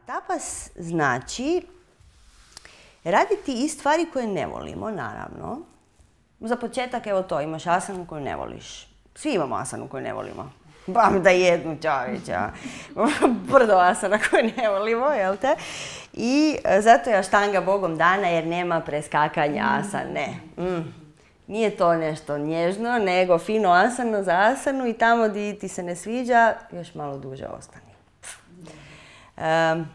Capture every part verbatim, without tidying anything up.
tapas znači raditi i stvari koje ne volimo, naravno. Za početak, evo to, imaš asanu koju ne voliš. Svi imamo asanu koju ne volimo. Bam da jednu čovječa. Brdo asana koju ne volimo, jel te? I zato je aštanga Bogom dana jer nema preskakanja asane. Mm. Nije to nešto nježno, nego fino asano za asanu i tamo gdje ti se ne sviđa, još malo duže ostani. Um,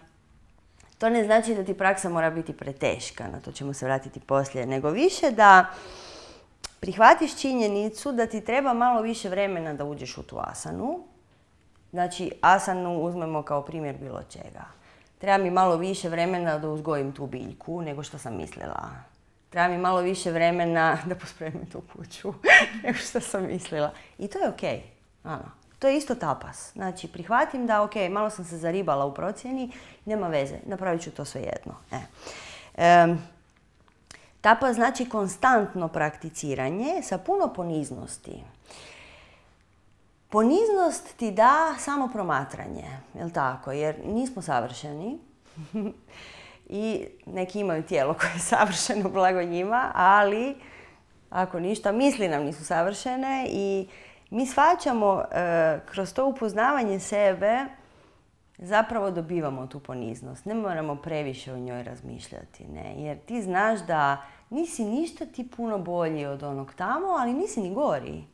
to ne znači da ti praksa mora biti preteška, na to ćemo se vratiti poslije, nego više da prihvatiš činjenicu da ti treba malo više vremena da uđeš u tu asanu. Znači, asanu uzmemo kao primjer bilo čega. Treba mi malo više vremena da uzgojim tu biljku nego što sam mislila. Treba mi malo više vremena da pospremim tu kuću nego što sam mislila. I to je okej. Ano. To je isto tapas. Znači, prihvatim da, ok, malo sam se zaribala u procjeni, nema veze, napravit ću to svejedno. E. E, tapas znači konstantno prakticiranje sa puno poniznosti. Poniznost ti da samo promatranje, jel tako? Jer nismo savršeni i neki imaju tijelo koje je savršeno, blago njima, ali ako ništa, misli nam nisu savršene i mi shvaćamo e, kroz to upoznavanje sebe zapravo dobivamo tu poniznost. Ne moramo previše o njoj razmišljati, ne? Jer ti znaš da nisi ništa ti puno bolji od onog tamo, ali nisi ni gori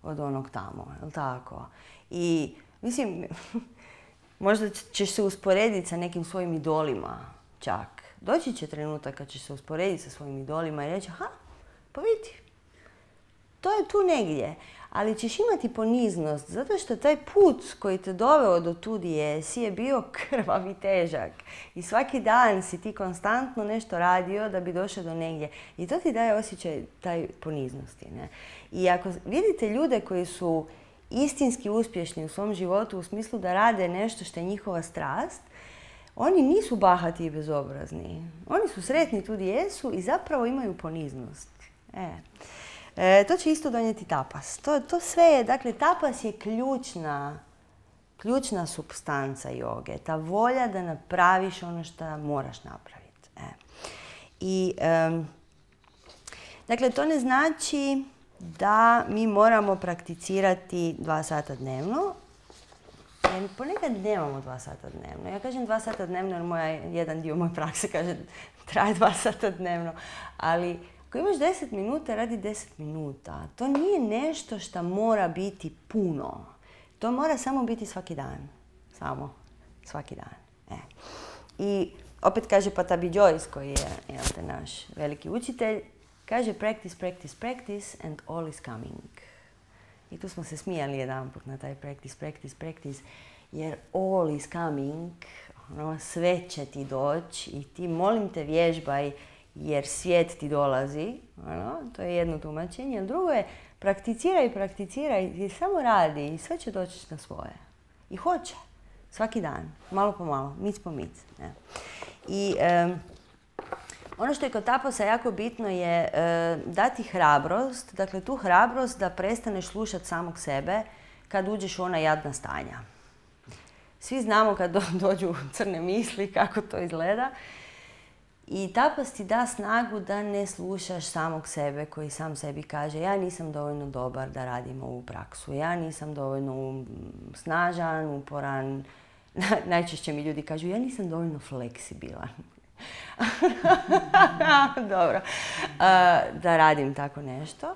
od onog tamo, jel tako? I mislim, možda ćeš se usporediti sa nekim svojim idolima čak. Doći će trenutak kad ćeš se usporediti sa svojim idolima i reći, aha, pa vidi, to je tu negdje. Ali ćeš imati poniznost, zato što taj put koji te doveo do tu gdje jesi je bio krvav i težak. I svaki dan si ti konstantno nešto radio da bi došao do negdje. I to ti daje osjećaj taj poniznosti. Ne? I ako vidite ljude koji su istinski uspješni u svom životu u smislu da rade nešto što je njihova strast, oni nisu bahati i bezobrazni. Oni su sretni tu gdje jesu i zapravo imaju poniznost. E. E, to će isto donijeti tapas. To, to sve je, dakle, tapas je ključna, ključna supstanca joge. Ta volja da napraviš ono što moraš napraviti. E. I, um, dakle, to ne znači da mi moramo prakticirati dva sata dnevno. Jer ponekad nemamo dva sata dnevno. Ja kažem dva sata dnevno jer moja, jedan dio moje prakse kaže traje dva sata dnevno. Ali ako imaš deset minuta, radi deset minuta. To nije nešto što mora biti puno. To mora samo biti svaki dan. Samo svaki dan. E. I opet kaže Patabi Joyce, koji je jel te, naš veliki učitelj, kaže practice, practice, practice and all is coming. I tu smo se smijali jedan put na taj practice, practice, practice, jer all is coming, ono, sve će ti doći i ti, molim te, vježbaj jer svijet ti dolazi, ono, to je jedno tumačenje, a drugo je prakticiraj, prakticiraj i samo radi i sve će doći na svoje. I hoće, svaki dan, malo po malo, mic po mic. Ne? I um, ono što je kod tapasa jako bitno je uh, dati hrabrost, dakle tu hrabrost da prestaneš slušati samog sebe kad uđeš u ona jadna stanja. Svi znamo kad do, dođu crne misli kako to izgleda. I tapas ti da snagu da ne slušaš samog sebe koji sam sebi kaže ja nisam dovoljno dobar da radim ovu praksu, ja nisam dovoljno snažan, uporan. Najčešće mi ljudi kažu ja nisam dovoljno fleksibilan. Dobro, uh, da radim tako nešto.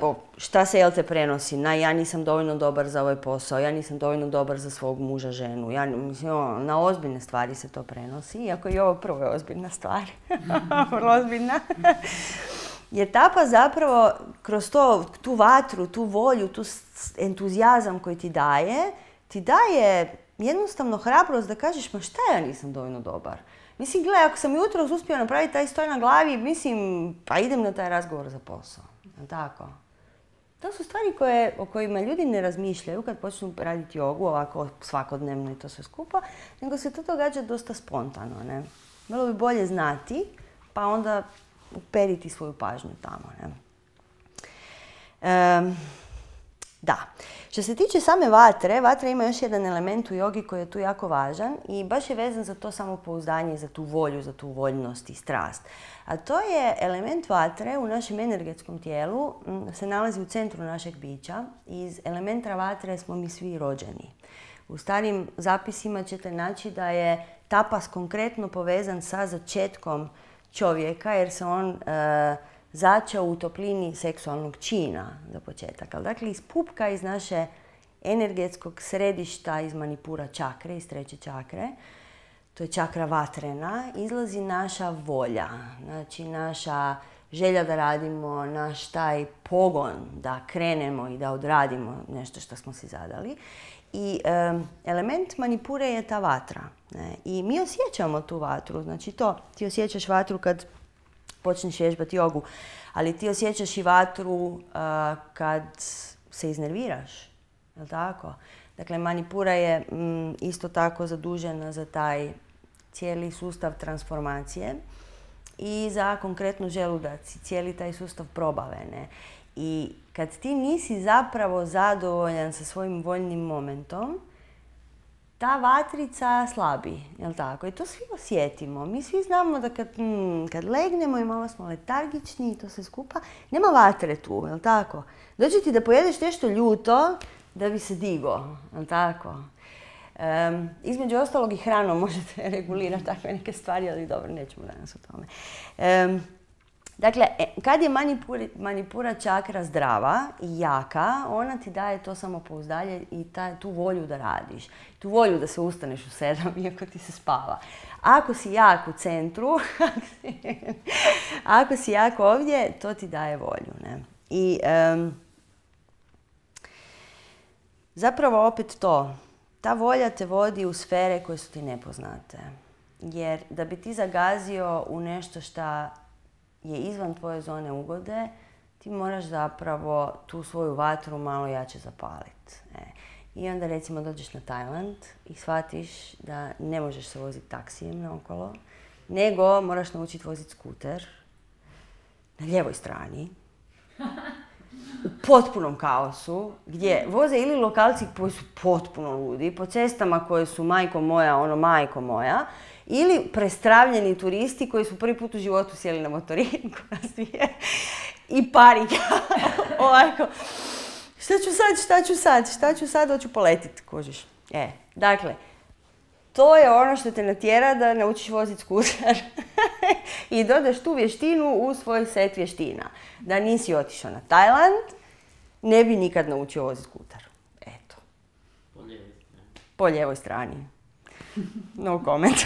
O, šta se jel te prenosi? Na, ja nisam dovoljno dobar za ovaj posao, ja nisam dovoljno dobar za svog muža, ženu. Ja, mislim, o, na ozbiljne stvari se to prenosi, iako i ovo prvo je ozbiljna stvar. Vrlo ozbiljna. Jer tapas zapravo kroz to, tu vatru, tu volju, tu entuzijazam koji ti daje, ti daje jednostavno hrabrost da kažeš ma šta ja nisam dovoljno dobar. Mislim, gledaj, ako sam jutros uspio napraviti taj stoj na glavi, mislim, pa idem na taj razgovor za posao. Tako. To su stvari koje, o kojima ljudi ne razmišljaju kad počnu raditi jogu ovako svakodnevno i to sve skupa, nego se to događa dosta spontano. Ne? Bilo bi bolje znati, pa onda uperiti svoju pažnju tamo. Ne? Um, da. Što se tiče same vatre, vatra ima još jedan element u jogi koji je tu jako važan i baš je vezan za to samopouzdanje, za tu volju, za tu voljnost i strast. A to je element vatre u našem energetskom tijelu, se nalazi u centru našeg bića. Iz elementa vatre smo mi svi rođeni. U starim zapisima ćete naći da je tapas konkretno povezan sa začetkom čovjeka jer se on e, začeo u toplini seksualnog čina za početak. Ali dakle, iz pupka, iz naše energetskog središta, iz manipura čakre, iz treće čakre, to je čakra vatrena, izlazi naša volja, znači naša želja da radimo, naš taj pogon da krenemo i da odradimo nešto što smo si zadali. I e, element manipure je ta vatra. Ne? I mi osjećamo tu vatru, znači to, ti osjećaš vatru kad počneš vježbati jogu, ali ti osjećaš i vatru uh, kad se iznerviraš, je li tako? Dakle, manipura je mm, isto tako zadužena za taj cijeli sustav transformacije i za konkretno želudac, cijeli taj sustav probave. Ne? I kad ti nisi zapravo zadovoljan sa svojim voljnim momentom, ta vatrica slabi, jel tako? I to svi osjetimo. Mi svi znamo da kad, mm, kad legnemo i malo smo letargični i to sve skupa, nema vatre tu, jel tako? Dođe ti da pojedeš nešto ljuto da bi se digo, jel tako? Um, između ostalog i hranom možete regulirati takve neke stvari, ali dobro, nećemo danas o tome. Um, Dakle, kad je manipura, manipura čakra zdrava i jaka, ona ti daje to samopouzdanje i ta, tu volju da radiš. Tu volju da se ustaneš u sedam, iako ti se spava. Ako si jak u centru, ako si jak ovdje, to ti daje volju. Ne? I um, zapravo opet to, ta volja te vodi u sfere koje su ti nepoznate. Jer da bi ti zagazio u nešto što je izvan tvoje zone ugode, ti moraš zapravo tu svoju vatru malo jače zapaliti. E. I onda recimo dođeš na Tajland i shvatiš da ne možeš se voziti taksijem naokolo, nego moraš naučiti voziti skuter na lijevoj strani, u potpunom kaosu, gdje voze ili lokalci koji su potpuno ludi, po cestama koje su majko moja, ono majko moja, ili prestravljeni turisti koji su prvi put u životu sjeli na motorinku i panika. Ovako, šta ću sad, šta ću sad, šta ću sad, hoću poletiti, kužiš. E, dakle, to je ono što te natjera da naučiš voziti skuter i dodaš tu vještinu u svoj set vještina. Da nisi otišao na Tajland, ne bi nikad naučio voziti skuter. Eto. Po lijevoj strani. Po lijevoj strani. No comment.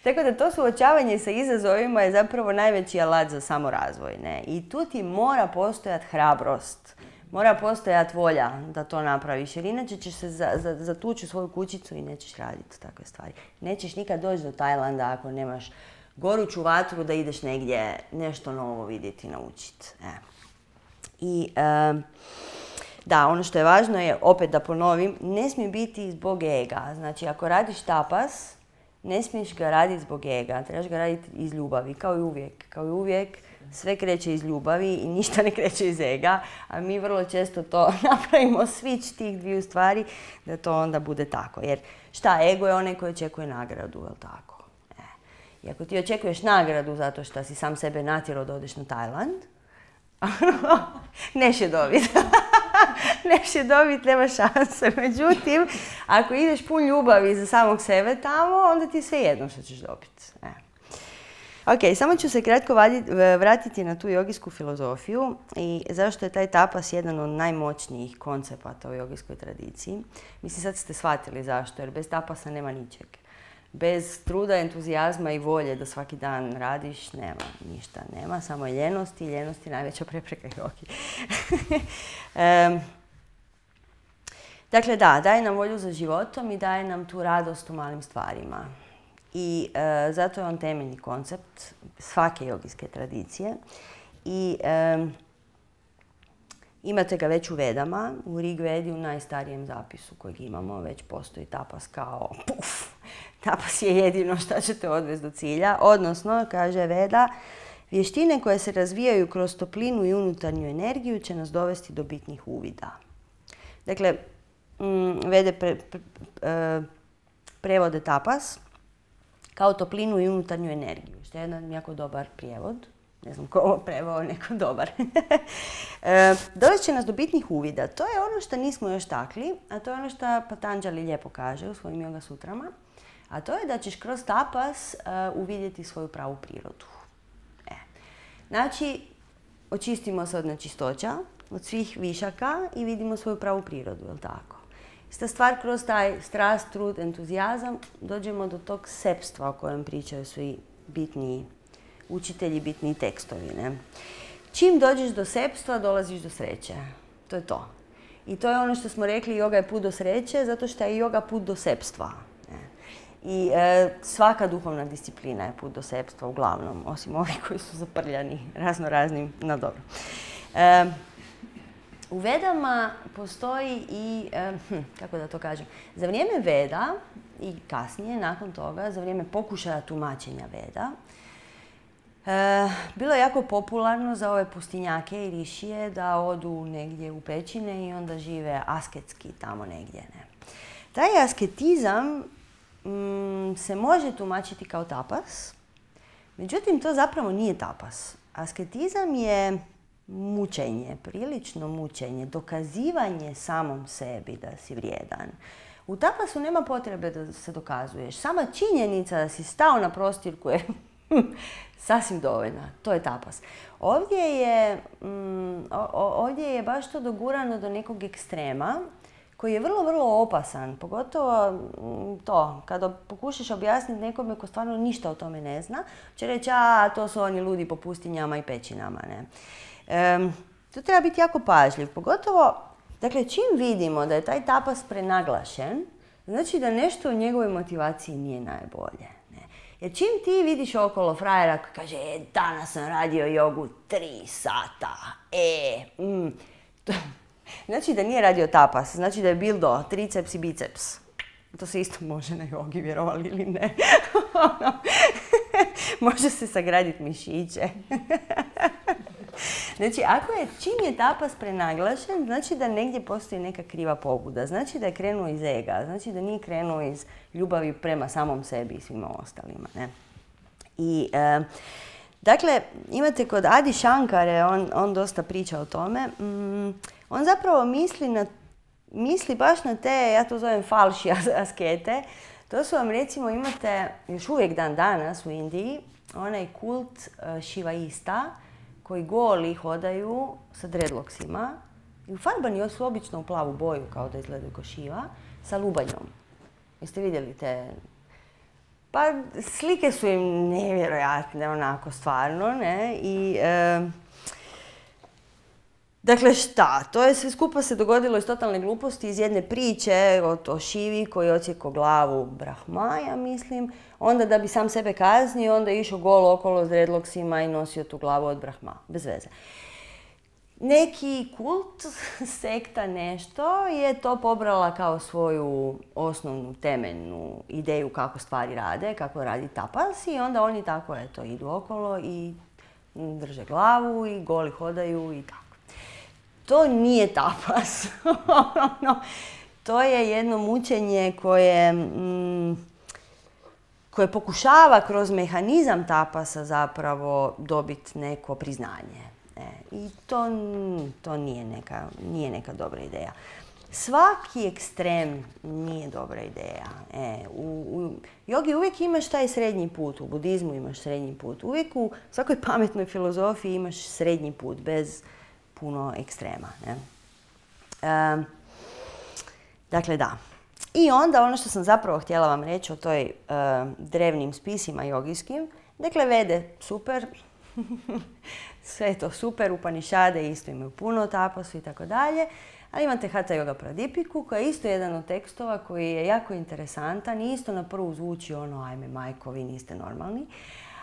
Tako da to suočavanje sa izazovima je zapravo najveći alat za samorazvoj. Ne? I tu ti mora postojati hrabrost. Mora postojati volja da to napraviš, jer inače ćeš se za, za, zatući u svoju kućicu i nećeš raditi takve stvari. Nećeš nikad doći do Tajlanda ako nemaš goruću vatru da ideš negdje nešto novo vidjeti i naučiti. E. I e, da, ono što je važno je, opet da ponovim, ne smije biti zbog ega. Znači, ako radiš tapas, ne smiješ ga raditi zbog ega, trebaš ga raditi iz ljubavi, kao i uvijek. Kao i uvijek, sve kreće iz ljubavi i ništa ne kreće iz ega, a mi vrlo često to napravimo switch tih dviju stvari, da to onda bude tako. Jer šta, ego je onaj koji očekuje nagradu, jel tako? E. I ako ti očekuješ nagradu zato što si sam sebe natjerao da odeš na Tajland, neš je dobiti. Neš je dobiti, nema šanse. Međutim, ako ideš pun ljubavi za samog sebe tamo, onda ti je sve jedno što ćeš dobiti. E. Ok, samo ću se kratko vratiti na tu jogijsku filozofiju i zašto je taj tapas jedan od najmoćnijih koncepata u jogijskoj tradiciji. Mislim, sad ste shvatili zašto, jer bez tapasa nema ničeg. Bez truda, entuzijazma i volje da svaki dan radiš, nema ništa. Nema, samo je ljenost i ljenost je najveća prepreka jogi. um, dakle, da, daje nam volju za životom i daje nam tu radost u malim stvarima. I e, zato je on temeljni koncept svake jogijske tradicije. I e, imate ga već u Vedama, u Rig Vedi, u najstarijem zapisu kojeg imamo, već postoji tapas kao puf. Tapas je jedino što ćete odvesti do cilja. Odnosno, kaže Veda, vještine koje se razvijaju kroz toplinu i unutarnju energiju će nas dovesti do bitnih uvida. Dakle, mm, vede pre, pre, pre, prevode tapas kao toplinu i unutarnju energiju, što je jedan jako dobar prijevod. Ne znam ko ovo preveo, neko dobar. e, dovest će nas do bitnih uvida. To je ono što nismo još takli, a to je ono što Patanjali lijepo kaže u svojim Yoga sutrama. A to je da ćeš kroz tapas uh, uvidjeti svoju pravu prirodu. E. Znači, očistimo se od nečistoća, od svih višaka i vidimo svoju pravu prirodu, je li tako? Ista stvar, kroz taj strast, trud, entuzijazam, dođemo do tog sepstva o kojem pričaju svi bitniji učitelji, bitniji tekstovi. Ne? Čim dođeš do sepstva, dolaziš do sreće. To je to. I to je ono što smo rekli, yoga je put do sreće, zato što je yoga put do sepstva. I e, svaka duhovna disciplina je put do sepstva, uglavnom, osim ovih koji su zaprljani razno raznim, no dobro. E, u Vedama postoji i, e, hm, kako da to kažem, za vrijeme Veda i kasnije, nakon toga, za vrijeme pokušaja tumačenja Veda, e, bilo je jako popularno za ove pustinjake i rišije da odu negdje u pećine i onda žive asketski tamo negdje. Ne? Taj asketizam Mm, se može tumačiti kao tapas, međutim to zapravo nije tapas. Asketizam je mučenje, prilično mučenje, dokazivanje samom sebi da si vrijedan. U tapasu nema potrebe da se dokazuješ. Sama činjenica da si stao na prostirku je sasvim dovoljna. To je tapas. Ovdje je, mm, ovdje je baš to dogurano do nekog ekstrema, koji je vrlo, vrlo opasan, pogotovo to, kada pokušaš objasniti nekome ko stvarno ništa o tome ne zna, će reći, a to su oni ludi po pustinjama i pećinama. Ne? E, tu treba biti jako pažljiv, pogotovo, dakle, čim vidimo da je taj tapas prenaglašen, znači da nešto u njegovoj motivaciji nije najbolje. Ne? Jer čim ti vidiš okolo frajera koji kaže, e, danas sam radio jogu tri sata, e, mm, to, znači da nije radio tapas, znači da je bildo triceps i biceps. To se isto može na jogi, vjerovali ili ne. Može se sagraditi mišiće. Znači, ako je, čim je tapas prenaglašen, znači da negdje postoji neka kriva pobuda. Znači da je krenuo iz ega, znači da nije krenuo iz ljubavi prema samom sebi i svima ostalima. Ne? I, e, dakle, imate kod Adi Shankare, on, on dosta priča o tome, mm, on zapravo misli, na, misli baš na te, ja to zovem falši askete. To su vam, recimo, imate još uvijek dan danas u Indiji, onaj kult uh, šivaista koji goli hodaju sa dreadlocksima i ufarbani su obično u plavu boju, kao da izgledaju kao šiva, sa lubanjom. Jeste vidjeli te? Pa slike su im nevjerojatne, onako, stvarno, ne? I... Uh, Dakle, šta? To je sve skupa se dogodilo iz totalne gluposti, iz jedne priče o, o Šivi koji je odsjekao glavu Brahma, ja mislim. Onda da bi sam sebe kaznio, onda je išao golo okolo s dreadlocksima i nosio tu glavu od Brahma. Bez veze. Neki kult, sekta, nešto je to pobrala kao svoju osnovnu, temeljnu ideju kako stvari rade, kako radi tapas i onda oni tako, eto, idu okolo i drže glavu i goli hodaju i tako. To nije tapas. no, to je jedno mučenje koje, mm, koje pokušava kroz mehanizam tapasa zapravo dobiti neko priznanje. E, I to, to nije, neka, nije neka dobra ideja. Svaki ekstrem nije dobra ideja. E, u, u jogi uvijek imaš taj srednji put, u budizmu imaš srednji put. Uvijek u svakoj pametnoj filozofiji imaš srednji put, bez puno ekstrema. Ne? E, dakle, da. I onda ono što sam zapravo htjela vam reći o toj e, drevnim spisima jogijskim, dakle, Vede super, sve je to super, Upanišade isto imaju puno tapasu i tako dalje, ali imate Hatha Yoga Pradipiku koja je isto jedan od tekstova koji je jako interesantan i isto na prvu zvuči ono, ajme majko, vi niste normalni.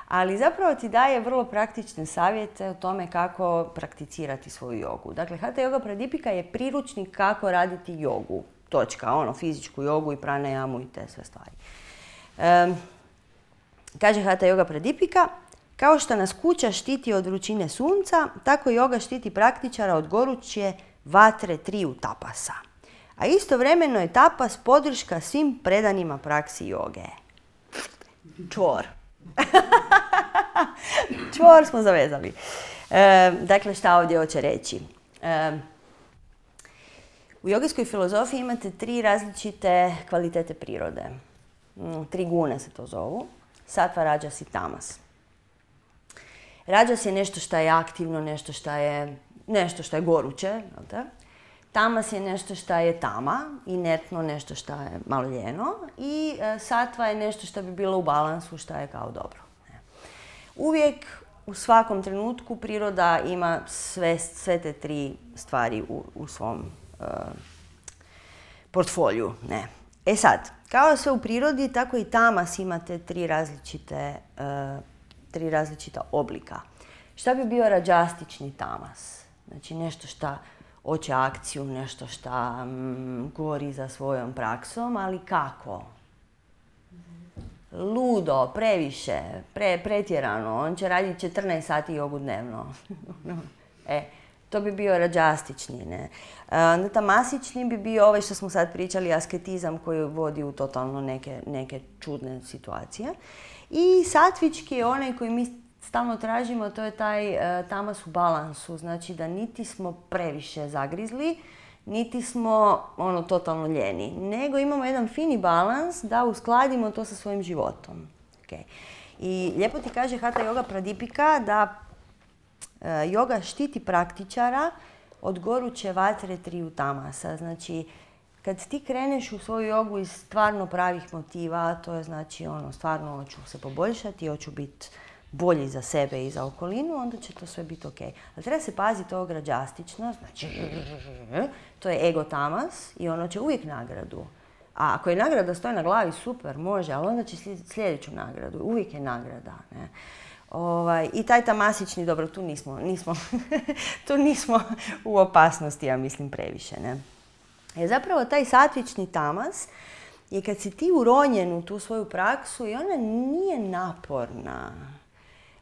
Ali zapravo ti daje vrlo praktične savjete o tome kako prakticirati svoju jogu. Dakle, Hatha Yoga Pradipika je priručnik kako raditi jogu. Točka, ono, fizičku jogu i pranajamu i te sve stvari. E, kaže Hatha Yoga Pradipika, kao što nas kuća štiti od vrućine sunca, tako joga štiti praktičara od goruće vatre triju tapasa. A istovremeno je tapas podrška svim predanima praksi joge. Čvor. Čvor smo zavezali. E, dakle, šta ovdje hoće reći? E, u jogijskoj filozofiji imate tri različite kvalitete prirode. Tri gune se to zovu. Sattva, rajas i tamas. Rajas je nešto što je aktivno, nešto što je, nešto što je goruće. Jel te? Tamas je nešto što je tama, inertno, nešto što je malo ljeno. I e, sattva je nešto što bi bilo u balansu, što je kao dobro. Uvijek, u svakom trenutku, priroda ima sve, sve te tri stvari u, u svom uh, portfoliju. Ne. E sad, kao sve u prirodi, tako i tamas imate tri različite, uh, tri različita oblika. Šta bi bio rađastični tamas? Znači nešto šta hoće akciju, nešto šta mm, gori za svojom praksom, ali kako? Ludo, previše, pre, pretjerano, on će raditi četrnaest sati jogu dnevno. e, to bi bio rađastični, ne. E, tamasični bi bio ovaj što smo sad pričali, asketizam koji vodi u totalno neke, neke čudne situacije. I satvički je onaj koji mi stalno tražimo, to je taj e, tamas u balansu, znači da niti smo previše zagrizli, niti smo ono totalno ljeni, nego imamo jedan fini balans da uskladimo to sa svojim životom. Okay. I lijepo ti kaže Hatha Yoga Pradipika da e, yoga štiti praktičara od goruće vatre triju tamasa. Znači, kad ti kreneš u svoju jogu iz stvarno pravih motiva, to je znači ono, stvarno hoću se poboljšati, hoću biti bolji za sebe i za okolinu, onda će to sve biti ok. Ali treba se paziti ovog rađastično, znači to je ego tamas i ono će uvijek nagradu. A ako je nagrada stoji na glavi, super, može, ali onda će sljedeću nagradu. Uvijek je nagrada. Ne? Ovaj, I taj tamasični, dobro, tu nismo, nismo, tu nismo u opasnosti, ja mislim, previše. Ne? Jer zapravo taj satvični tamas je kad si ti uronjen u tu svoju praksu i ona nije naporna.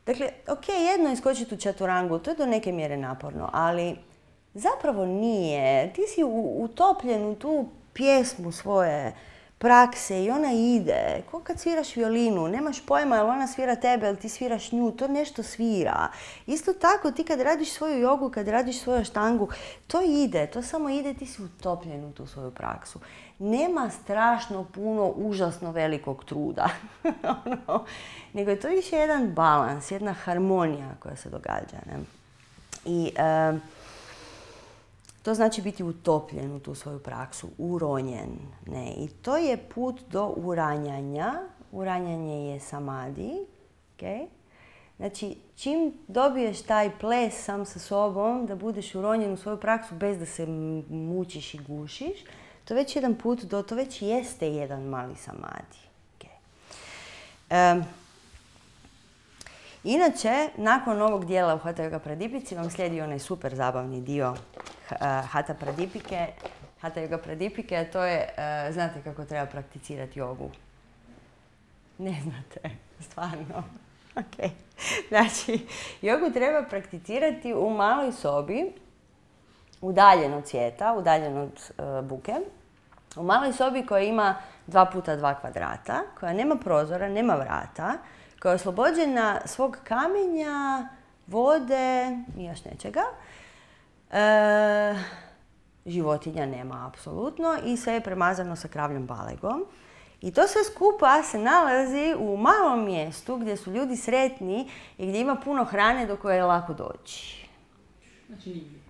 Dakle, ok, jedno je skočiti u čaturangu, to je do neke mjere naporno, ali zapravo nije. Ti si utopljen u tu pjesmu svoje prakse i ona ide. Ko kad sviraš violinu, nemaš pojma jel ona svira tebe, jel ti sviraš nju, to nešto svira. Isto tako, ti kad radiš svoju jogu, kad radiš svoju štangu, to ide, to samo ide, ti si utopljen u tu svoju praksu. Nema strašno puno, užasno velikog truda, ono, nego je to više jedan balans, jedna harmonija koja se događa. Ne? I e, to znači biti utopljen u tu svoju praksu, uronjen. Ne? I to je put do uranjanja. Uranjanje je samadi. Okay? Znači, čim dobiješ taj ples sam sa sobom, da budeš uronjen u svoju praksu bez da se mučiš i gušiš, to već jedan put do, to već jeste jedan mali samadi. Okay. Um, inače, nakon ovog dijela u Hatha Yoga Pradipici vam slijedi onaj super zabavni dio uh, Hatha Pradipike, Hatha Yoga Pradipike, a to je, uh, znate kako treba prakticirati jogu? Ne znate, stvarno. Okay. Znači, jogu treba prakticirati u maloj sobi, udaljen od svijeta, udaljen od uh, buke, u maloj sobi koja ima dva puta dva kvadrata, koja nema prozora, nema vrata, koja je oslobođena svog kamenja, vode i još nečega. E, životinja nema apsolutno i sve je premazano sa kravljom balegom. I to sve skupa se nalazi u malom mjestu gdje su ljudi sretni i gdje ima puno hrane do koje je lako doći. Znači nigdje.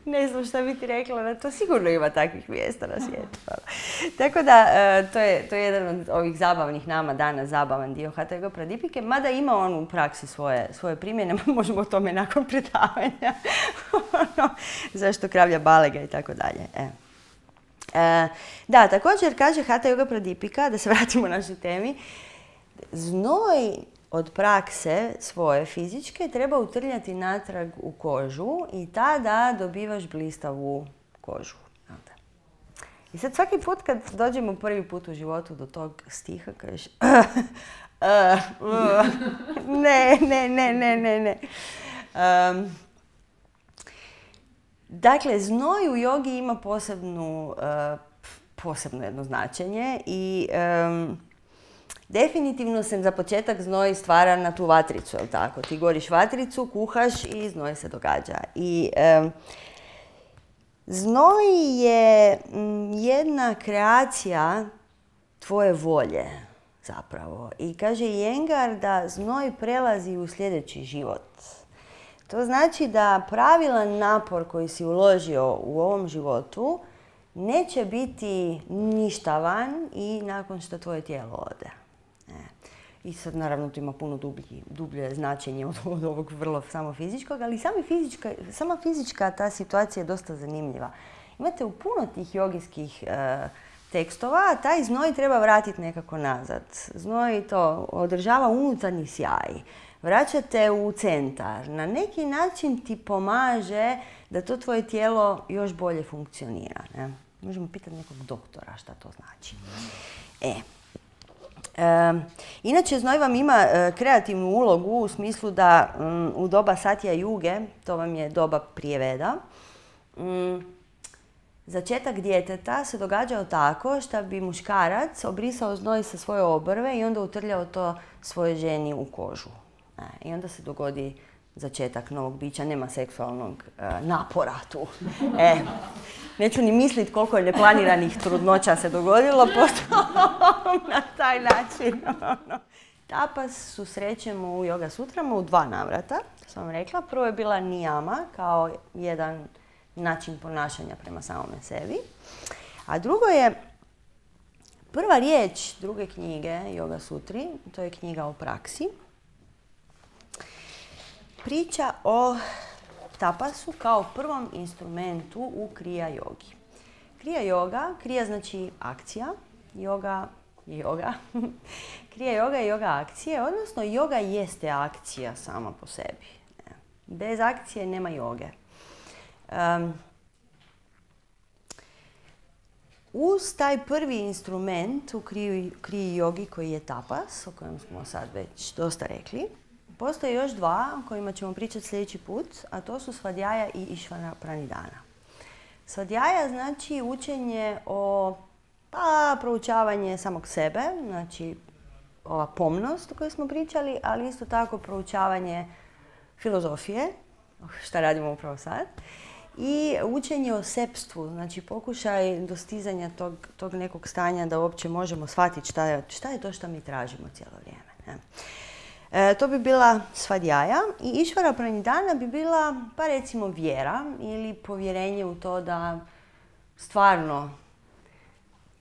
Ne znam šta bi ti rekla, da to sigurno ima takvih mjesta na svijetu. Tako da, to je, to je jedan od ovih zabavnih nama danas, zabavan dio Hatha Yoga Pradipike, mada ima on u praksi svoje, svoje primjene, možemo o tome nakon predavanja. Zašto kravlja balega i tako dalje. E. E, da, također kaže Hatha Yoga Pradipika, da se vratimo našoj temi, znoj od prakse svoje fizičke treba utrljati natrag u kožu i tada dobivaš blistavu kožu. I sad svaki put kad dođemo prvi put u životu do tog stiha, kažeš uh, uh, uh, ne, ne, ne, ne, ne, ne. Um, Dakle, znoj u jogi ima posebnu, uh, posebno jedno značenje i um, definitivno se za početak znoj stvara na tu vatricu, jel tako? Ti goriš vatricu, kuhaš i znoj se događa. I um, znoj je m, jedna kreacija tvoje volje zapravo. I kaže Iyengar da znoj prelazi u sljedeći život. To znači da pravilan napor koji si uložio u ovom životu neće biti ništavan i nakon što tvoje tijelo ode. E. I sad naravno tu ima puno dublji, dublje značenje od, od ovog vrlo samo fizičkog, ali sami fizička, sama fizička ta situacija je dosta zanimljiva. Imate u puno tih jogijskih e, tekstova, a taj znoj treba vratiti nekako nazad. Znoj to održava unutarnji sjaj. Vraćate u centar. Na neki način ti pomaže da to tvoje tijelo još bolje funkcionira. Ne? Možemo pitati nekog doktora šta to znači. E. E, inače, znoj vam ima e, kreativnu ulogu u smislu da m, u doba Satya Juge, to vam je doba prije Veda, m, začetak djeteta se događao tako što bi muškarac obrisao znoj sa svoje obrve i onda utrljao to svoje ženi u kožu. I onda se dogodi začetak novog bića, nema seksualnog e, napora tu. E, neću ni misliti koliko je neplaniranih trudnoća se dogodilo, pošto na taj način. Tapas susrećemo u Yoga Sutrama u dva navrata, to sam vam rekla. Prvo je bila niyama kao jedan način ponašanja prema samome sebi. A drugo je prva riječ druge knjige Yoga Sutri, to je knjiga o praksi. Priča o tapasu kao prvom instrumentu u kriya jogi. Kriya yoga, kriya znači akcija, yoga je yoga. Kriya yoga je yoga akcije, odnosno yoga jeste akcija sama po sebi. Bez akcije nema joge. Um, uz taj prvi instrument u kriya jogi koji je tapas, o kojem smo sad već dosta rekli, postoje još dva o kojima ćemo pričati sljedeći put, a to su svadhyaja i išvara pranidhana. Svadhyaja znači učenje o pa, proučavanje samog sebe, znači ova pomnost o kojoj smo pričali, ali isto tako proučavanje filozofije, šta radimo upravo sad, i učenje o sepstvu, znači pokušaj dostizanja tog, tog nekog stanja da uopće možemo shvatiti šta je, šta je to što mi tražimo cijelo vrijeme. Ne? E, to bi bila svadhyaja i išvara pranidhana bi bila, pa recimo, vjera ili povjerenje u to da stvarno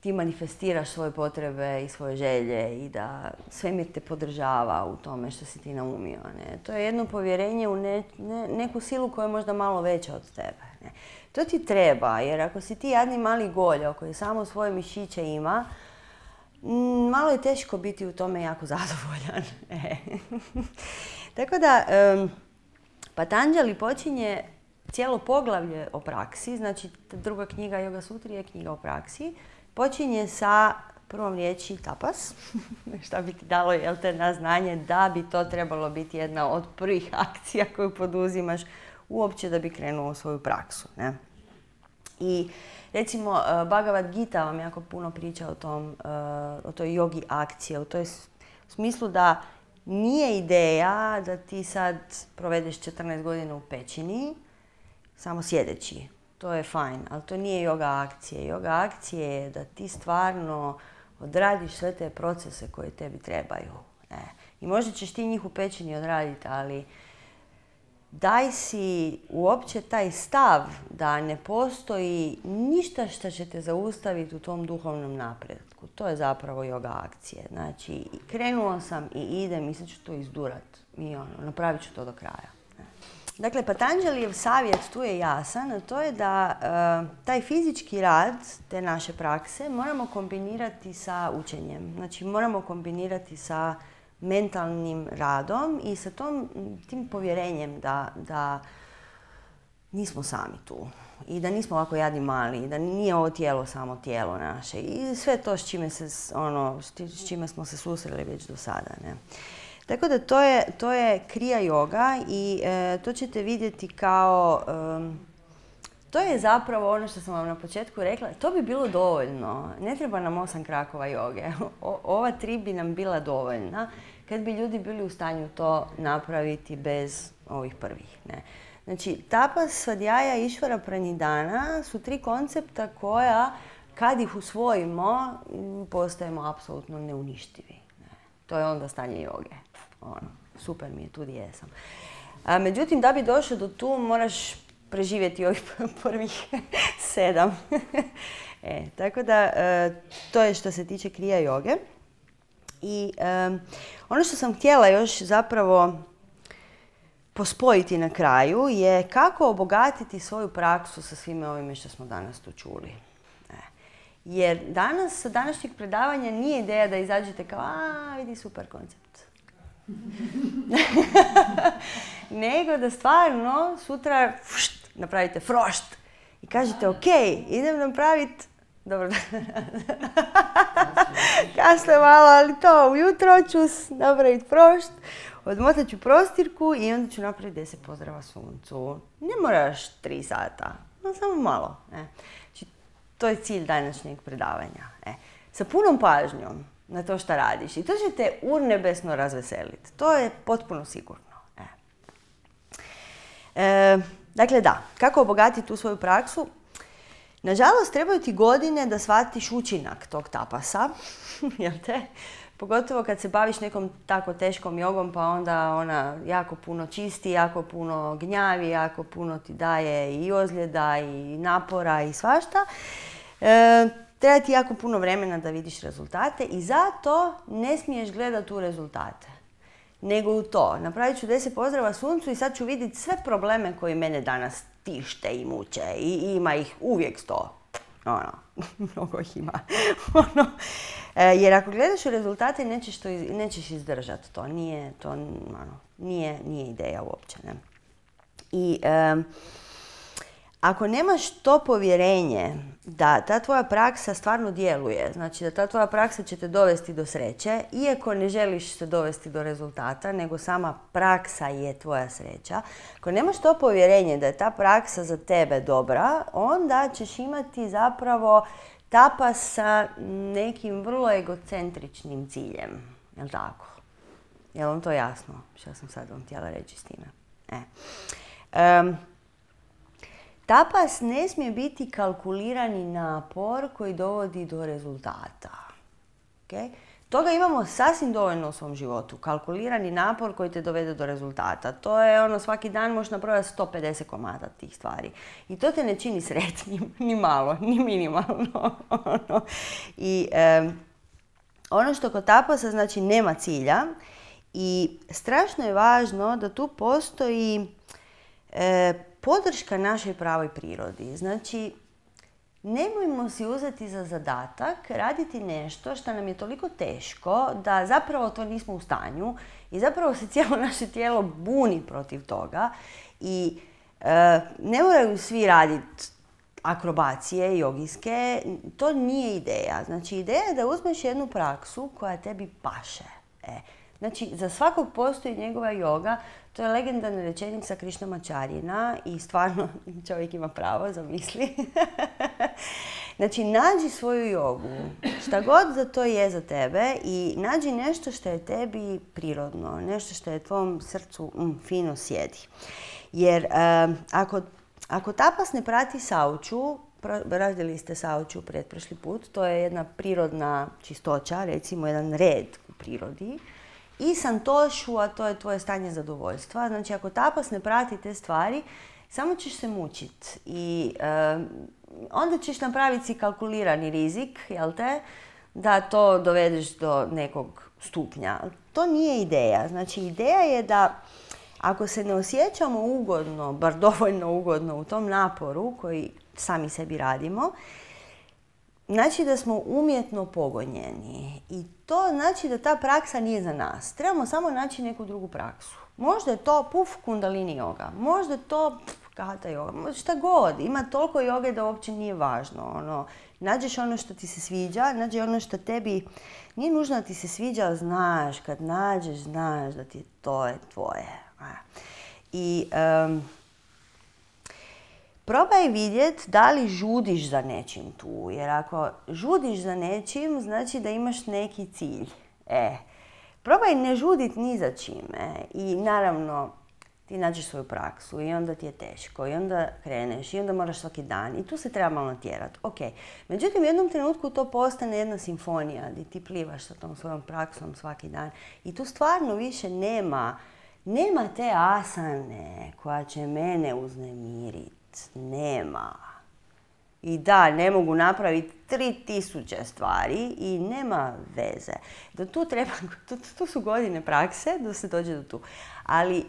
ti manifestiraš svoje potrebe i svoje želje i da svemir te podržava u tome što si ti naumio. Ne? To je jedno povjerenje u ne, ne, neku silu koja je možda malo veća od tebe. Ne? To ti treba, jer ako si ti jadni mali goljo koji samo svoje mišiće ima, malo je teško biti u tome jako zadovoljan. E. Tako da, um, Patanjali počinje cijelo poglavlje o praksi, znači druga knjiga Yoga Sutri je knjiga o praksi, počinje sa prvom riječi tapas, šta bi ti dalo, jel te, na znanje da bi to trebalo biti jedna od prvih akcija koju poduzimaš uopće da bi krenuo u svoju praksu. Ne? I recimo, Bhagavad Gita vam jako puno priča o, tom, o toj jogi akcije, u toj smislu da nije ideja da ti sad provedeš četrnaest godina u pećini, samo sjedeći. To je fajn, ali to nije yoga akcije. Yoga akcije je da ti stvarno odradiš sve te procese koje tebi trebaju. E. I možda ćeš ti njih u pećini odraditi, ali daj si uopće taj stav da ne postoji ništa što će te zaustaviti u tom duhovnom napretku. To je zapravo yoga akcije. Znači, krenuo sam i idem i sad ću to izdurat. I ono, napravit ću to do kraja. Dakle, Patanjalijev savjet tu je jasan, a to je da uh, taj fizički rad te naše prakse moramo kombinirati sa učenjem. Znači, moramo kombinirati sa mentalnim radom i sa tom, tim povjerenjem da, da nismo sami tu i da nismo ovako jadni mali i da nije ovo tijelo samo tijelo naše i sve to s čime, se, ono, s čime smo se susreli već do sada. Ne? Tako da to je, to je kriya yoga i e, to ćete vidjeti kao e, to je zapravo ono što sam vam na početku rekla, to bi bilo dovoljno. Ne treba nam osam krakova joge. O, ova tri bi nam bila dovoljna kad bi ljudi bili u stanju to napraviti bez ovih prvih. Ne. Znači, tapas, svadjaja, išvara, pranidana su tri koncepta koja, kad ih usvojimo, postajemo apsolutno neuništivi. Ne. To je onda stanje joge. Ono, super mi je, tu gdje jesam. A, međutim, da bi došao do tu, moraš preživjeti ovih prvih sedam. e, tako da, e, to je što se tiče krija joge. I e, ono što sam htjela još zapravo pospojiti na kraju je kako obogatiti svoju praksu sa svime ovime što smo danas tu čuli. E, jer danas, sa današnjeg predavanja nije ideja da izađete kao, a vidi super koncept. Nego da stvarno sutra fušt, napravite frošt i kažete ok, idem napraviti, dobro, kasno je malo, ali to ujutro ću napraviti frošt, odmotat ću prostirku i onda ću napraviti deset pozdrava suncu. Ne moraš tri sata, no samo malo. E. Znači, to je cilj današnjeg predavanja. E. Sa punom pažnjom na to što radiš i to će te urnebesno razveseliti. To je potpuno sigurno. E. E, dakle, da, kako obogatiti tu svoju praksu? Nažalost, trebaju ti godine da shvatiš učinak tog tapasa, jel te? Pogotovo kad se baviš nekom tako teškom jogom, pa onda ona jako puno čisti, jako puno gnjavi, jako puno ti daje i ozljeda i napora i svašta. E, treba ti jako puno vremena da vidiš rezultate i zato ne smiješ gledati u rezultate, nego u to. Napravit ću deset pozdrava suncu i sad ću vidjeti sve probleme koji mene danas tište i muče i ima ih uvijek sto. Ono, mnogo ih ima. ono, e, jer ako gledaš u rezultate nećeš, to, nećeš izdržati to. Nije, to ono, nije, nije ideja uopće. Ne? I e, ako nemaš to povjerenje da ta tvoja praksa stvarno djeluje, znači da ta tvoja praksa će te dovesti do sreće, iako ne želiš se dovesti do rezultata, nego sama praksa je tvoja sreća, ako nemaš to povjerenje da je ta praksa za tebe dobra, onda ćeš imati zapravo tapas sa nekim vrlo egocentričnim ciljem. Jel' tako? Je li vam to jasno što sam sad vam htjela reći s time? E. Um, Tapas ne smije biti kalkulirani napor koji dovodi do rezultata. Okay? Toga imamo sasvim dovoljno u svom životu. Kalkulirani napor koji te dovede do rezultata. To je ono, svaki dan možeš napraviti sto pedeset komada tih stvari. I to te ne čini sretnim, ni malo, ni minimalno. I e, ono što kod tapasa znači nema cilja i strašno je važno da tu postoji e, podrška našoj pravoj prirodi. Znači, nemojmo si uzeti za zadatak raditi nešto što nam je toliko teško da zapravo to nismo u stanju i zapravo se cijelo naše tijelo buni protiv toga i e, ne moraju svi raditi akrobacije jogijske, to nije ideja. Znači, ideja je da uzmeš jednu praksu koja tebi paše. E, znači, za svakog postoji njegova joga. To je legendarna rečenica Krišnamačarjina i stvarno čovjek ima pravo, zamisli. Znači, nađi svoju jogu, šta god za to je za tebe i nađi nešto što je tebi prirodno, nešto što je tvom srcu mm, fino sjedi. Jer um, ako, ako tapas ne prati sauču, radili ste sauču pretprošli put, to je jedna prirodna čistoća, recimo jedan red u prirodi, i santošu, a to je tvoje stanje zadovoljstva. Znači, ako tapas ne prati te stvari, samo ćeš se mučiti i e, onda ćeš napraviti si kalkulirani rizik, jel te, da to dovedeš do nekog stupnja. To nije ideja. Znači, ideja je da ako se ne osjećamo ugodno, bar dovoljno ugodno u tom naporu koji sami sebi radimo, znači da smo umjetno pogonjeni i to znači da ta praksa nije za nas. Trebamo samo naći neku drugu praksu. Možda je to puf kundalini joga, možda je to hatha joga, šta god. Ima toliko joge da uopće nije važno. Ono, nađeš ono što ti se sviđa, nađeš ono što tebi nije nužno da ti se sviđa, ali znaš, kad nađeš, znaš da ti to je tvoje. I um, probaj vidjeti da li žudiš za nečim tu. Jer ako žudiš za nečim, znači da imaš neki cilj. E, probaj ne žudit ni za čime. I naravno, ti nađeš svoju praksu i onda ti je teško i onda kreneš i onda moraš svaki dan i tu se treba malo natjerati. Ok. Međutim, u jednom trenutku to postane jedna simfonija gdje ti plivaš sa tom svojom praksom svaki dan i tu stvarno više nema, nema te asane koja će mene uznemiriti. Nema. I da, ne mogu napraviti tri tisuće stvari i nema veze. Da tu treba, tu, tu su godine prakse da se dođe do tu. Ali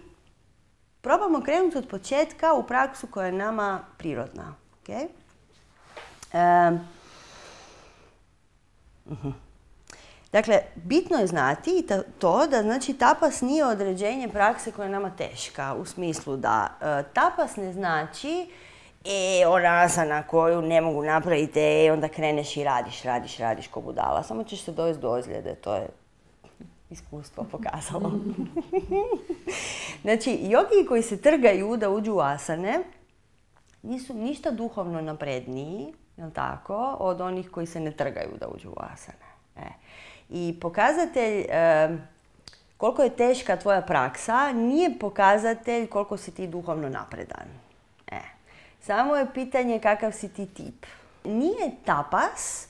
probamo krenuti od početka u praksu koja je nama prirodna. Okay? Um, uh-huh. Dakle, bitno je znati to da znači tapas nije određenje prakse koja je nama teška. U smislu da uh, tapas ne znači e, ona asana koju ne mogu napraviti, e, onda kreneš i radiš, radiš, radiš ko budala. Samo ćeš se dovesti do ozljede, to je iskustvo pokazalo. Znači, jogi koji se trgaju da uđu u asane nisu ništa duhovno napredniji, jel tako, od onih koji se ne trgaju da uđu u asane. E. I pokazatelj e, koliko je teška tvoja praksa nije pokazatelj koliko si ti duhovno napredan. E. Samo je pitanje kakav si ti tip. Nije tapas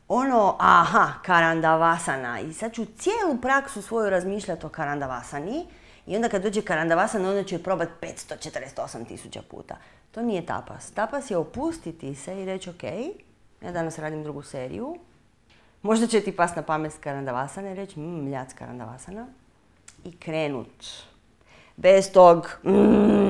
ono, aha, karandavasana i sad ću cijelu praksu svoju razmišljati o karandavasani i onda kad dođe karandavasana onda ću je probati petsto četrdeset osam tisuća puta. To nije tapas. Tapas je opustiti se i reći ok, ja danas radim drugu seriju, možda će ti pas na pamet karandavasana i reći mmm, ljac karandavasana i krenut. Bez tog mm.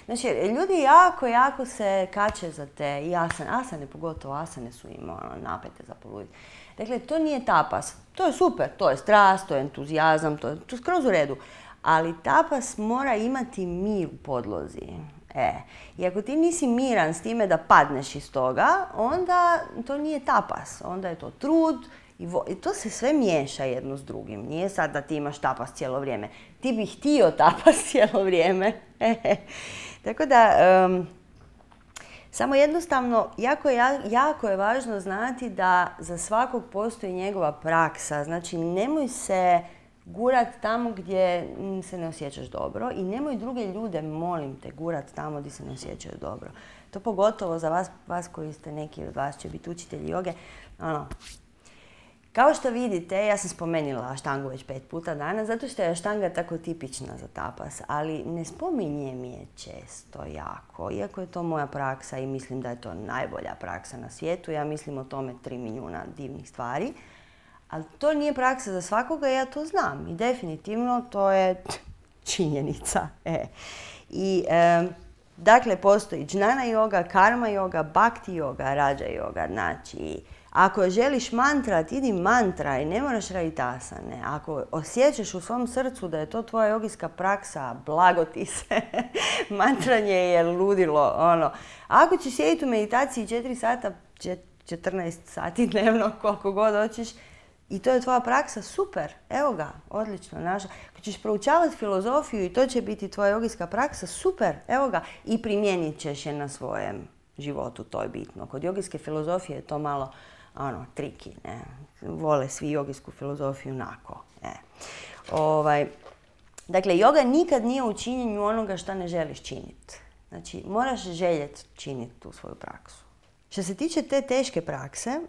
Znači, ljudi jako, jako se kače za te i asane, asane pogotovo, asane su im ono, napete za poluditi. Dakle, to nije tapas. To je super, to je strast, to je entuzijazam, to je, to je skroz u redu. Ali tapas mora imati mir u podlozi. E, i ako ti nisi miran s time da padneš iz toga, onda to nije tapas. Onda je to trud i, vo, i to se sve miješa jedno s drugim. Nije sad da ti imaš tapas cijelo vrijeme. Ti bi htio tapas cijelo vrijeme. Tako da, um, samo jednostavno, jako je, jako je važno znati da za svakog postoji njegova praksa. Znači, nemoj se gurat tamo gdje se ne osjećaš dobro i nemoj druge ljude, molim te, gurat tamo gdje se ne osjećaju dobro. To pogotovo za vas, vas koji ste, neki od vas će biti učitelji joge. Ono, kao što vidite, ja sam spomenula aštangu već pet puta danas, zato što je aštanga tako tipična za tapas, ali ne spominjem je često jako, iako je to moja praksa i mislim da je to najbolja praksa na svijetu. Ja mislim o tome tri milijuna divnih stvari. Ali to nije praksa za svakoga, ja to znam i definitivno to je činjenica. E. I, e, dakle, postoji džnana yoga, karma yoga, bhakti yoga, raja yoga. Znači, ako želiš mantrat, idi mantraj, ne moraš raditi asane. Ako osjećaš u svom srcu da je to tvoja jogijska praksa, blago ti se. Mantranje je ludilo. Ono. Ako ćeš sjediti u meditaciji četiri sata, četrnaest sati dnevno, koliko god hoćeš, i to je tvoja praksa, super, evo ga, odlično, naša. Kad ćeš proučavati filozofiju i to će biti tvoja jogijska praksa, super, evo ga. I primijenit ćeš je na svojem životu, to je bitno. Kod jogijske filozofije je to malo, ono, triki, ne. Vole svi jogijsku filozofiju onako, ne. Ovaj, dakle, joga nikad nije u činjenju onoga što ne želiš činiti. Znači, moraš željeti činiti tu svoju praksu. Što se tiče te teške prakse,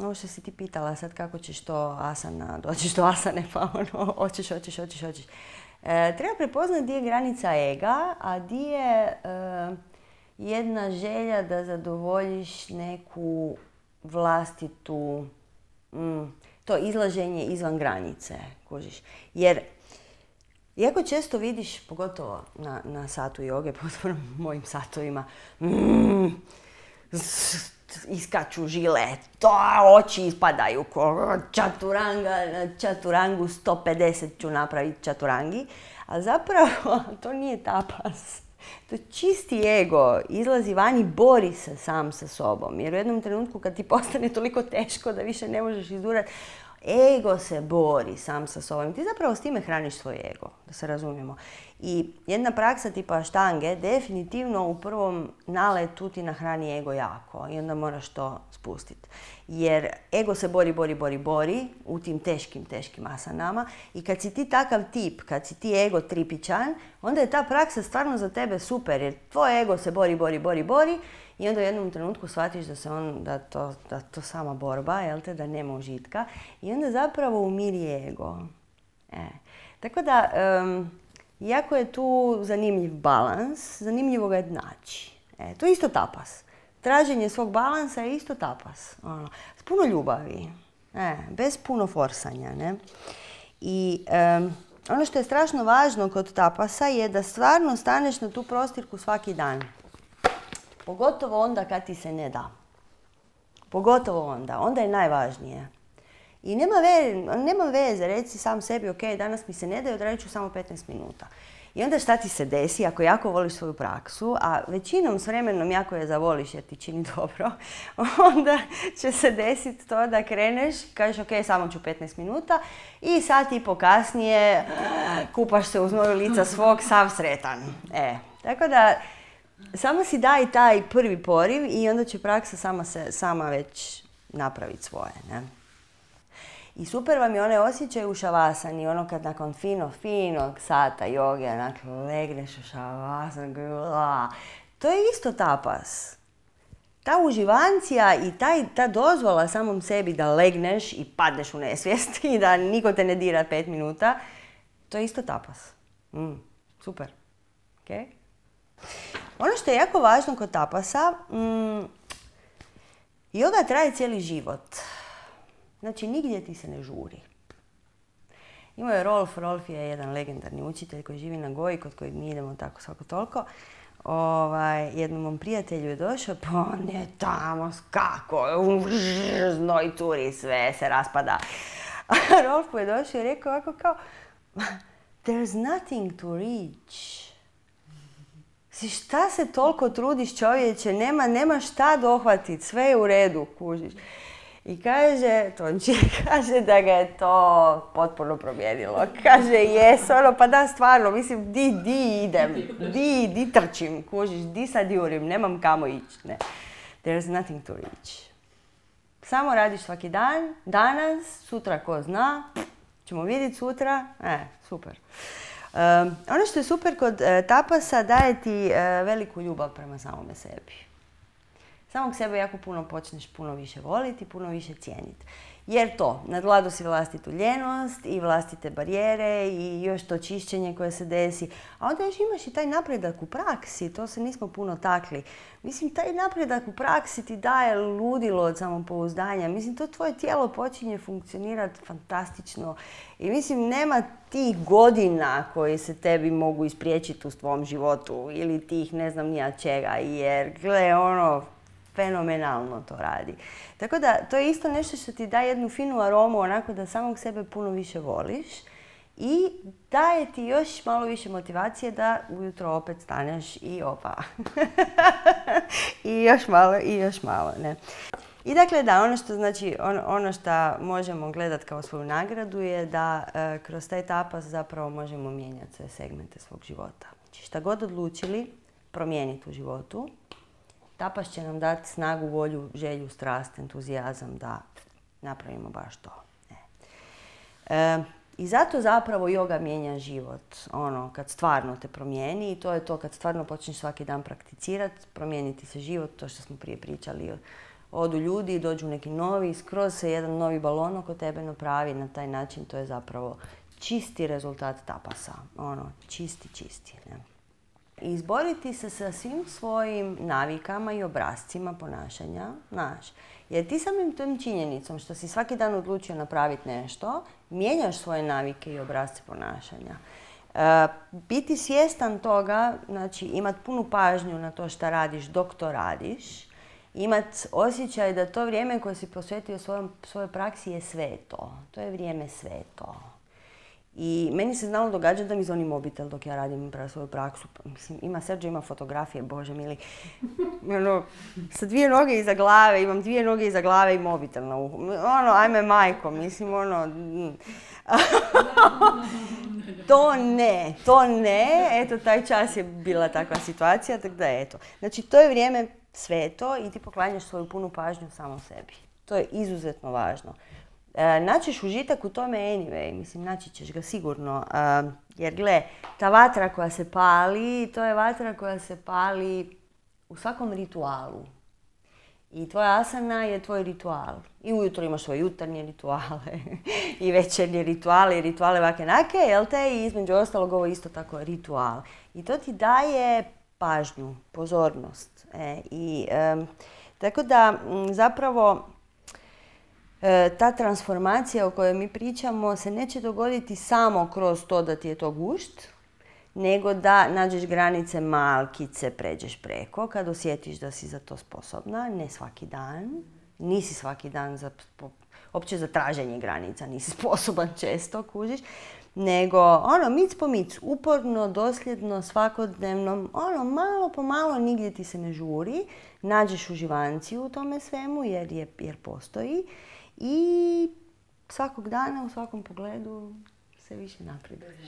ovo što si ti pitala sad kako ćeš to asana, doćeš do asane pa ono, hoćeš, hoćeš, hoćeš, hoćeš. E, treba prepoznati gdje je granica ega, a gdje je e, jedna želja da zadovoljiš neku vlastitu, mm, to izlaženje izvan granice, kužiš. Jer, iako često vidiš, pogotovo na, na satu joge, pogotovo na mojim satovima, mm, iskaču žile, to oči ispadaju ko čaturanga, čaturangu sto pedeset ću napraviti čaturangi, a zapravo to nije tapas. To je čisti ego, izlazi van i bori se sam sa sobom, jer u jednom trenutku kad ti postane toliko teško da više ne možeš izdurati, ego se bori sam sa sobom. Ti zapravo s time hraniš svoj ego, da se razumijemo. I jedna praksa tipa štange definitivno u prvom naletu ti nahrani ego jako i onda moraš to spustiti. Jer ego se bori, bori, bori, bori u tim teškim, teškim asanama i kad si ti takav tip, kad si ti ego tripičan, onda je ta praksa stvarno za tebe super jer tvoj ego se bori, bori, bori, bori i onda u jednom trenutku shvatiš da se on, da to, da to sama borba, jel te, da nema užitka i onda zapravo umiri ego. E. Tako da, um, iako je tu zanimljiv balans, zanimljivo ga je naći. E, to je isto tapas. Traženje svog balansa je isto tapas. Ono, s puno ljubavi. E, bez puno forsanja. Ne? I um, ono što je strašno važno kod tapasa je da stvarno staneš na tu prostirku svaki dan. Pogotovo onda kad ti se ne da. Pogotovo onda. Onda je najvažnije. I nema, ve, nema veze, reci sam sebi, ok, danas mi se ne da, odradit ću samo petnaest minuta. I onda šta ti se desi, ako jako voliš svoju praksu, a većinom s vremenom jako je zavoliš jer ti čini dobro, onda će se desiti to da kreneš, kažeš ok, samo ću petnaest minuta i sat i po kasnije kupaš se uz znoju lica svog, sav sretan. E, tako da, samo si daj taj prvi poriv i onda će praksa sama, se, sama već napraviti svoje, ne? I super vam je onaj osjećaj u šavasani, ono kad nakon fino, finog sata joge, onak legneš u šavasan, to je isto tapas. Ta uživancija i taj, ta dozvola samom sebi da legneš i padneš u nesvijest i da niko te ne dira pet minuta, to je isto tapas. Mm, super. Okay? Ono što je jako važno kod tapasa, mm, joga traje cijeli život. Znači, nigdje ti se ne žuri. Imao je Rolf, Rolf je jedan legendarni učitelj koji živi na Goji, kod kojeg mi idemo tako svako toliko. Ovaj, jednom mom prijatelju je došao, pa on je tamo, kako, znoj curi, sve se raspada. A Rolf mu je došao i rekao ovako kao, there's nothing to reach. Si šta se toliko trudiš, čovječe, nema, nema šta dohvatiti, sve je u redu, kužiš. I kaže, Tonči, kaže da ga je to potpuno promijenilo. Kaže, jes, ono, pa da, stvarno, mislim, di, di idem, di, di trčim, kužiš, di sad jurim, nemam kamo ići, ne. There's nothing to reach. Samo radiš svaki dan, danas, sutra ko zna, ćemo vidjeti sutra, e, super. Um, ono što je super kod uh, tapasa, daje ti uh, veliku ljubav prema samome sebi. Samog sebe jako puno počneš puno više voliti, puno više cijeniti. Jer to, nadvlado si vlastitu ljenost i vlastite barijere i još to čišćenje koje se desi. A onda još imaš i taj napredak u praksi, to se nismo puno takli. Mislim, taj napredak u praksi ti daje ludilo od samopouzdanja. Mislim, to tvoje tijelo počinje funkcionirati fantastično. I mislim, nema tih godina koji se tebi mogu ispriječiti u tvom životu ili tih ne znam nija čega. Jer, gle, ono, fenomenalno to radi. Tako da, to je isto nešto što ti daje jednu finu aromu, onako da samog sebe puno više voliš i daje ti još malo više motivacije da ujutro opet staneš i opa. I još malo, i još malo, ne. I dakle, da, ono što znači, on, ono što možemo gledati kao svoju nagradu je da e, kroz taj tapas zapravo možemo mijenjati sve segmente svog života. Znači, šta god odlučili promijeniti u životu, tapas će nam dati snagu, volju, želju, strast, entuzijazam da napravimo baš to. E. E, I zato zapravo joga mijenja život. Ono, kad stvarno te promijeni i to je to kad stvarno počneš svaki dan prakticirati, promijeniti se život, to što smo prije pričali. Odu ljudi, dođu neki novi, skroz se jedan novi balon oko tebe napravi na taj način. To je zapravo čisti rezultat tapasa. Ono, čisti, čisti. Ne? I izboriti se sa svim svojim navikama i obrascima ponašanja, znaš. Jer ti samim tom činjenicom što si svaki dan odlučio napraviti nešto, mijenjaš svoje navike i obrasce ponašanja. E, biti svjestan toga, znači imati punu pažnju na to što radiš dok to radiš, imati osjećaj da to vrijeme koje si posvetio svojom, svojoj praksi je sveto. To je vrijeme sveto. I meni se znalo događati da mi zvoni mobitel dok ja radim prav svoju praksu. Mislim, ima Sergio, ima fotografije, bože mili. Ono, sa dvije noge iza glave, imam dvije noge iza glave i mobitel na uhu. Ono, ajme majko, mislim, ono... To ne, to ne. Eto, taj čas je bila takva situacija, tako da eto. Znači, to je vrijeme sveto i ti poklanjaš svoju punu pažnju samom sebi. To je izuzetno važno. E, naćeš užitak u tome anyway, mislim, naći ćeš ga sigurno. E, jer gle, ta vatra koja se pali, to je vatra koja se pali u svakom ritualu. I tvoja asana je tvoj ritual. I ujutro imaš svoje jutarnje rituale i večernje rituale i rituale vake nake, jel te? I između ostalog ovo isto tako ritual. I to ti daje pažnju, pozornost. E, i, e, tako da m, zapravo e, ta transformacija o kojoj mi pričamo se neće dogoditi samo kroz to da ti je to gušt, nego da nađeš granice malkice, pređeš preko, kad osjetiš da si za to sposobna, ne svaki dan, nisi svaki dan za, opće za traženje granica, nisi sposoban često, kužiš, nego ono, mic po mic, uporno, dosljedno, svakodnevno, ono, malo po malo, nigdje ti se ne žuri, nađeš uživanciju u tome svemu jer, je, jer postoji i svakog dana, u svakom pogledu se više napreduješ.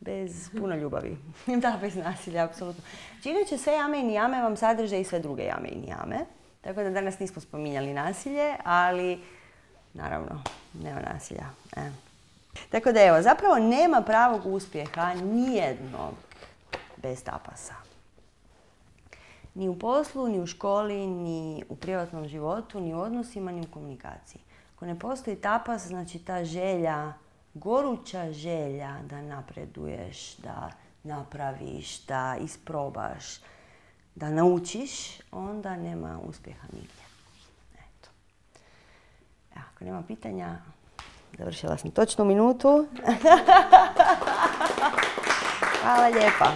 Bez puno ljubavi. Da, bez nasilja, apsolutno. Inače, sve jame i nijame vam sadrže i sve druge jame i nijame. Tako da danas nismo spominjali nasilje, ali naravno, nema nasilja. E. Tako da evo, zapravo nema pravog uspjeha nijednog bez tapasa. Ni u poslu, ni u školi, ni u privatnom životu, ni u odnosima, ni u komunikaciji. Ako ne postoji tapas, znači ta želja, goruća želja da napreduješ, da napraviš, da isprobaš, da naučiš, onda nema uspjeha nigdje. Eto. Evo, ako nema pitanja, završila sam točno minutu. Hvala lijepa.